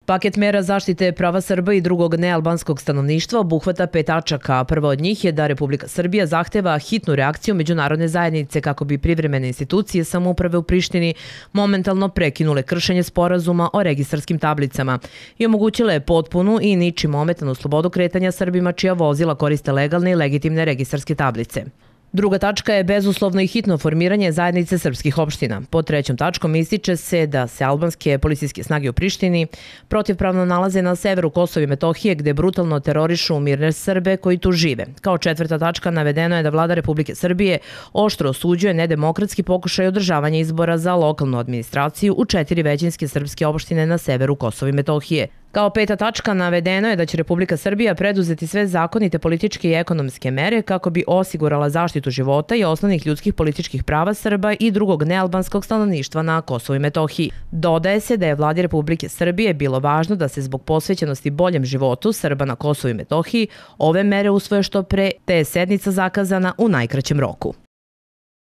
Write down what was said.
Paket mera zaštite prava Srba i drugog nealbanskog stanovništva obuhvata 5 tačaka. Prva od njih je da Republika Srbija zahteva hitnu reakciju međunarodne zajednice kako bi privremene institucije samouprave u Prištini momentalno prekinule kršenje sporazuma o registarskim tablicama i omogućile potpunu i ničim ometanu slobodu kretanja Srbima čija vozila koriste legalne i legitimne registarske tablice. Druga tačka je bezuslovno i hitno formiranje zajednice srpskih opština. Pod trećom tačkom ističe se da se albanske policijske snage u Prištini protivpravno nalaze na severu Kosova i Metohije gde brutalno terorišu mirne Srbe koji tu žive. Kao četvrta tačka navedeno je da vlada Republike Srbije oštro osuđuje nedemokratski pokušaj održavanja izbora za lokalnu administraciju u 4 većinske srpske opštine na severu Kosova i Metohije. Kao peta tačka navedeno je da će Republika Srbija preduzeti sve zakonite političke i ekonomske mere kako bi osigurala zaštitu života i osnovnih ljudskih političkih prava Srba i drugog nealbanskog stanovništva na Kosovu i Metohiji. Dodaje se da je vladi Republike Srbije bilo važno da se zbog posvećenosti boljem životu Srba na Kosovu i Metohiji ove mere usvoje što pre, te je sednica zakazana u najkraćem roku.